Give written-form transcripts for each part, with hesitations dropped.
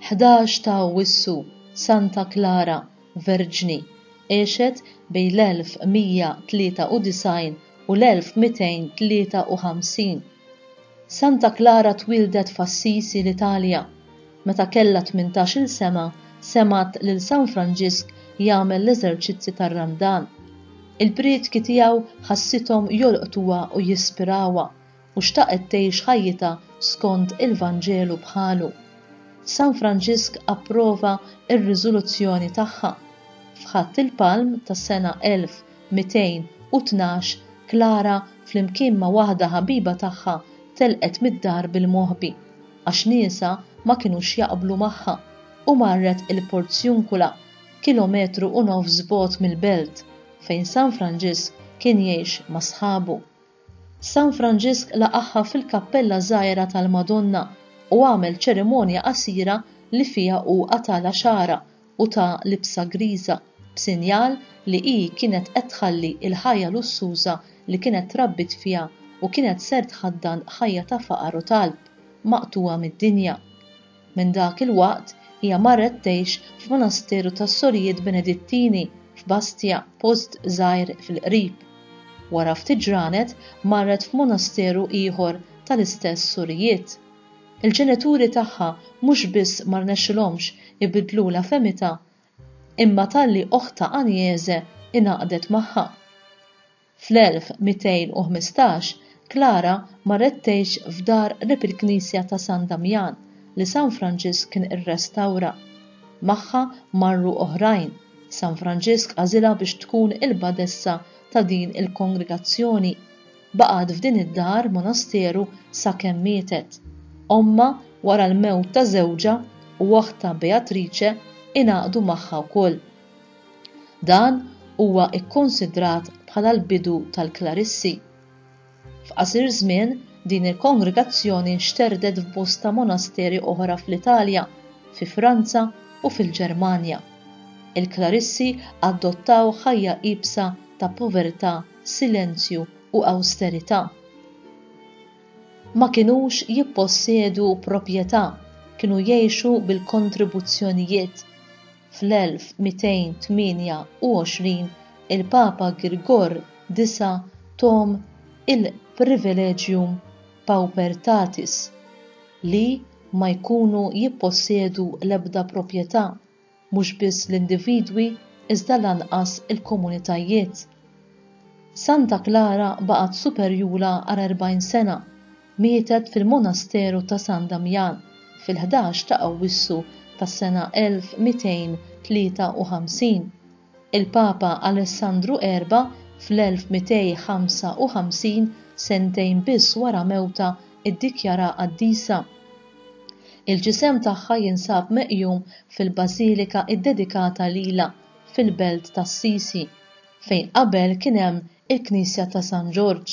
11 ta' Awwissu, Santa Klara, Verġni, għexet bejn l-1193 u l-1253. Santa Klara twieldet f'Assisi l-Italja. Meta kellha tmintax-il sena semgħet lil San Franġisk jagħmel l-eżerċizzi tar-Randan. Il-prietki tiegħu ħassithom jolqtuha u jispirawha u xtaqet tgħix ħajjitha skont il-Vanġelu bħalu. San Franġisk approva r-riżoluzzjoni tagħha. F'Ħadd il-Palm tas-sena 1212 Klara flimkien ma' waħda ħabiba tagħha telqet mid-dar bil-moħbi, għax niesha ma kinux jaqblu magħha, u marret il-Porzjunkula, kilometru u nofs bogħod mill-belt, fejn San Franġisk kien jgħix ma' sħabu. San Franġisk laqagħha fil-kappella żgħira tal-Madonna u għamel ċerimonja qasira li fiha hu qatgħalha xagħarha u ta libsa griża b'sinjal li hi kienet qed tħalli l-ħajja lussuża li kienet trabbiet fiha u kienet ser tħaddan ħajja ta' faqar u talb, maqtugħa mid-dinja. Minn dak il-waqt hija marret tgħix f'monasteru tas-Sorijiet Benedittini f'Bastia, post żgħir fil-qrib. Wara ftit ġranet marret f'monasteru ieħor tal-istess sorijiet. Il-ġenituri tagħha mhux biss ma rnexxilhomx ibiddlulha fehmitha, imma talli oħtha Agnese ingħaqdet magħha. Fl-1215, Klara marret tgħix f'dar qrib il-knisja ta' San Damjan li San Franġisk kien irrestawra. Magħha marru oħrajn. San Franġisk għażilha biex tkun il-badessa ta' din il-kongregazzjoni. Baqgħet f'din id-dar monasteru sakemm mietet. Ommha, wara l-mewt ta' żewġha, u oħtha Beatrice ingħaqdu magħha wkoll. Dan huwa kkonsidrat bħala l-bidu tal-Klarissi. F'qasir żmien, din il-kongregazzjoni nxterdet f'bosta monasteri oħra fl-Italja, fi Franza u fil-Ġermanja. Il-Klarissi adottaw ħajja iebsa ta' povertà, silenzju u awsterità. Ma kinux jippossjedu proprjetà, kienu jgħixu bil-kontribuzzjonijiet. Fl-1228 il-Papa Girgor Disa' thom il-Privilegium Paupertatis, li ma jkunu jippossjedu l-ebda proprjetà, mhux biss l-individwi iżda lanqas il-komunitajiet. Santa Klara baqgħet superjura għal 40 sena, mietet fil-monasteru ta' San Damjan fil-ħdax ta' Awwissu tas-sena 1253. Il-Papa Alessandru Erba' fl-1255, sentejn biss wara mewtha, iddikjarha qaddisa. Il-ġisem tagħha jinsab meqjum fil-bażilika ddedikata lilha fil-belt t'Assisi, fejn qabel kien hemm il-knisja ta' San Ġorġ.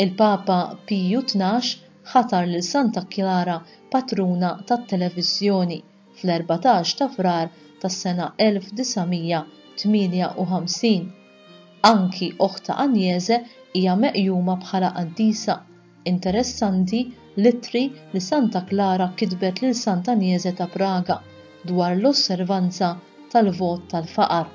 Il-Papa Piju 12 ħatar lil Santa Klara patruna tat-televiżjoni fl-14 ta' Frar tas-sena 1958. Anki oħtha Agnese hija meqjuma bħala qaddisa. Interessanti l-ittri li Santa Klara kitbet lil Sant'Anjese ta' Praga dwar l-osservanza tal-vot tal-faqar.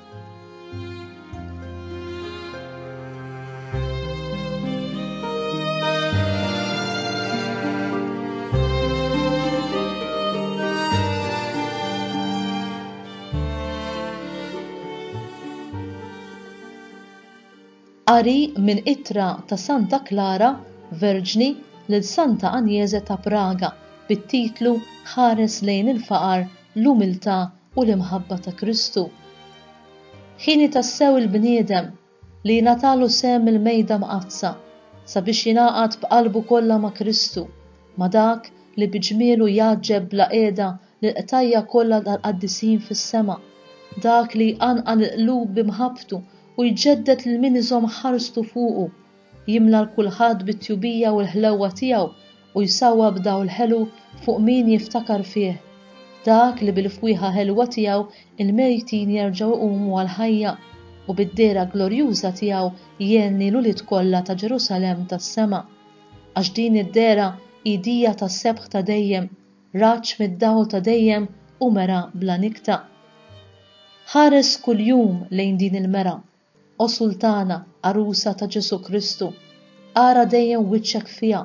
Qari minn ittra ta' Santa Klara, Verġni, lil Santa Anjese ta' Praga bit-titlu Ħares lejn il-faqar, l-umiltà u l-imħabba ta' Kristu. Ħieni tassew il-bniedem li jingħatalu sehem mill-Mejda Mqaddsa sabiex jingħaqad b'qalbu kollha ma' Kristu, ma' dak li bi ġmielu jgħaġġeb bla qiegħda lill-qtajja' kollha tal-qaddisin fis-sema, dak li jqanqal il-qlub bi mħabbtu u jġedded lil min iżomm ħarstu fuqu, jimla 'l kulħadd bit-tjubija u l-ħlewwa tiegħu u jsawwab dawl ħelu fuq min jiftakar fih, dak li bil-fwieħa ħelwa tiegħu l-mejtin jerġgħu jqumu għall-ħajja, u bid-dehra glorjuża tiegħu jgħenni l-ulied kollha ta' Ġerusalemm tas-sema. Għax din id-dehra hi dija ta' sebħ ta' dejjem. Raġġ mid-dawl ta' dejjem u mera bla nikta. Ħares kuljum lejn din il-mera, O Sultana, għarusa ta' Ġesù Kristu, ara dejjem wiċċek fiha,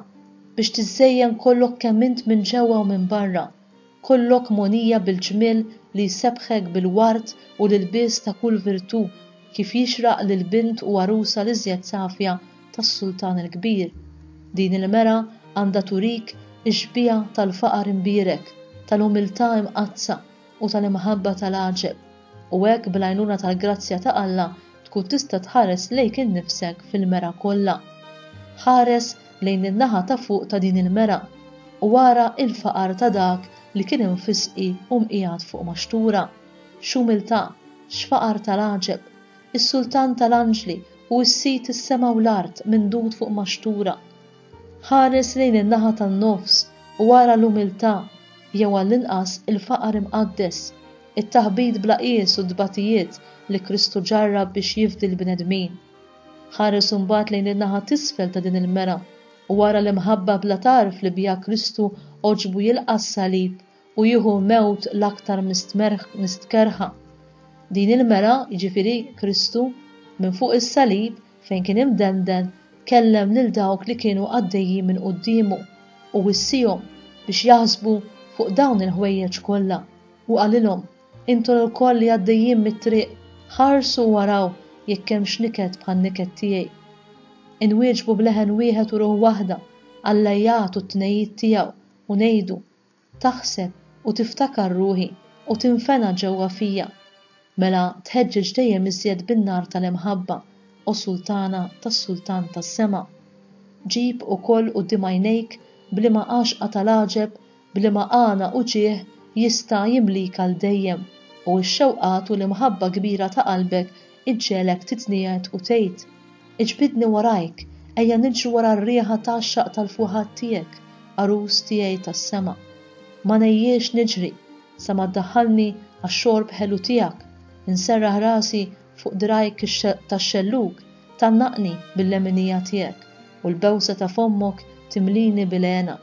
biex tiżżejjen kollok kemm int minn ġewwa u minn barra, kollok mogħnija bil-ġmiel li jsebbħek bil-ward u l-ilbies ta' kull virtù, kif jixraq lil bint u għarusa l-iżjed safja tas-Sultan il-Kbir. Din il-mera għandha turik ix-xbieha tal-faqar imbierek, tal-umiltà imqaddsa u tal-imħabba tal-għaġeb, u hekk bl-għajnuna tal-grazzja ta' Alla tkun tista' tħares lejk innifsek fil-mera kollha. Ħares lejn in-naħa ta' fuq ta' din il-mera u ara l-faqar ta' dak li kien imfisqi u mqiegħed fuq maxtura. X'umiltà, x'faqar tal-għaġeb! Is-Sultan tal-anġli u s-Sid is-sema u l-art mindud fuq maxtura. Ħares lejn in-naħa tan-nofs u ara l-umiltà, jew għall-inqas il-faqar imqaddes, it-taħbit bla qies u t-tbatijiet li Kristu ġarrab biex jifdi l-bnedmin. Ħares imbagħad lejn in-naħa t'isfel ta' din il-mera u ara l-imħabba bla tarf li biha Kristu għoġbu jilqa' s-salib u jieħu mewt l-aktar mistkerrħa. Din il-mera, jiġifieri Kristu, minn fuq is-salib fejn kien imdenden, kellem lil dawk li kienu għaddejjin minn quddiemu u wissihom biex jaħsbu fuq dawn il-ħwejjeġ kollha, u qalilhom, Intom ilkoll li għaddejjin mit-triq, ħarsu u araw jekk hemmx niket bħan-niket tiegħi. Inwieġbu b'leħen wieħed u ruħ waħda għall-għajjat u t-tnehid tiegħu u ngħidu, Taħseb u tiftakar ruħi u tinfena ġewwa fija. Mela tħeġġeġ dejjem iżjed bin-nar tal-imħabba, o Sultana tas-Sultan tas-sema. Ġib ukoll quddiem għajnejk b'liema għaxqa tal-għaġeb, b'liema għana u ġieħ jista' jimlik għal dejjem, u x-xewqat u l-imħabba kbira ta' qalbek iġġegħlek titniegħed u tgħid, Iġbidni warajk, ejja niġru wara r-riħa tgħaxxaq tal-fuħat tiegħek, għarus tiegħi tas-sema. Ma ngħejjiex niġri, sa ma ddaħħalni għax-xorb ħelu tiegħek, inserraħ rasi fuq dirgħajk tax-xellug, tgħannaqni bil-leminija tiegħek, u l-bewsa ta' fommok timlini bil-hena.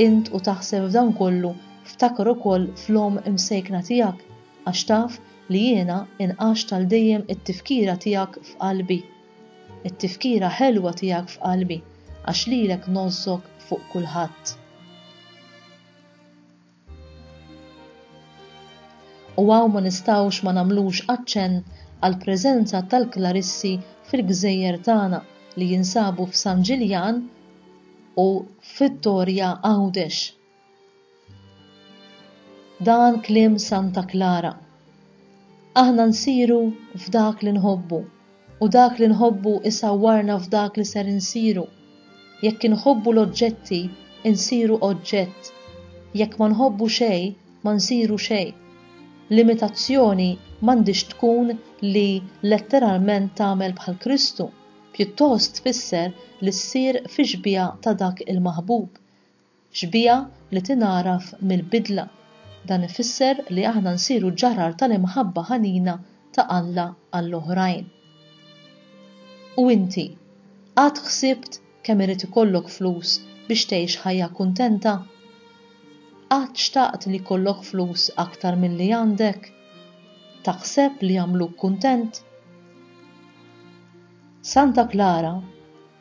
Int u taħseb f'dan kollu, ftakar ukoll fl-omm imsejkna tiegħek, għax taf li jiena inqaxt għal dejjem it-tifkira tiegħek f'qalbi. It-tifkira ħelwa tiegħek f'qalbi, għax lilek ngħożżok fuq kulħadd. U hawn ma nistgħux ma nagħmlux aċċenn għall-preżenza tal-Klarissi fil-gżejjer tagħna li jinsabu f'San Ġiljan u f'Vittoria Għawdex. Dan kliem Santa Klara. Aħna nsiru f'dak li nħobbu, u dak li nħobbu isawwarna f'dak li ser insiru. Jekk inħobbu l-oġġetti, insiru oġġett. Jekk ma nħobbu xejn, ma nsiru xejn. L-imitazzjoni m'għandhiex tkun li letteralment tagħmel bħal Kristu, pjuttost tfisser li ssir fi xbieha ta' dak il-maħbub. Xbieha li tingħaraf mill-bidla. Dan ifisser li aħna nsiru ġarar tal-imħabba ħanina ta' Alla għall-oħrajn. U inti, qatt ħsibt kemm irid ikollok flus biex tgħix ħajja kuntenta? Qatt xtaqt li jkollok flus aktar milli għandek? Taħseb li jagħmluk kuntent? Santa Klara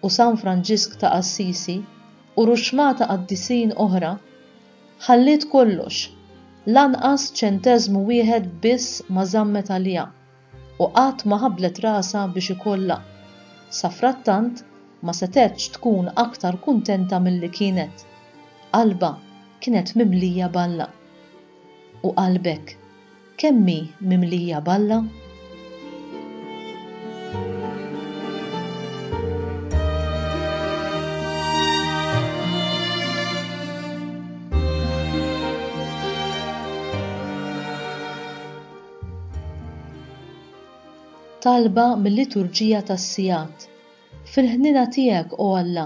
u San Franġisk ta' Assisi u ruxxmata qaddisin oħra, ħalliet kollox, lanqas ċenteżmu wieħed biss ma żammet għaliha, u qatt ma ħabblet rasha biex ikollha. Safrattant, ma setgħetx tkun aktar kuntenta milli kienet. Qalbha kienet mimlija b'Alla. U qalbek, Kemm hi mimlija b'Alla? Talba mil-Liturġija tas-Sigħat Fil-ħniena tiegħek, o Alla,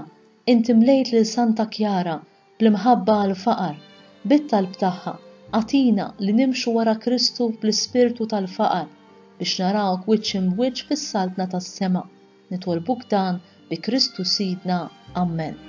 inti mlejt lil Santa Kjara bl-imħabba għall-faqar, bit-talb tagħha, agħtina li nimxu wara Kristu bl-ispirtu tal-faqar, biex narawk wiċċ imb'wiċċ fis-Saltna tas-sema. Nitolbuk dan bi Kristu Sidna. Ammen.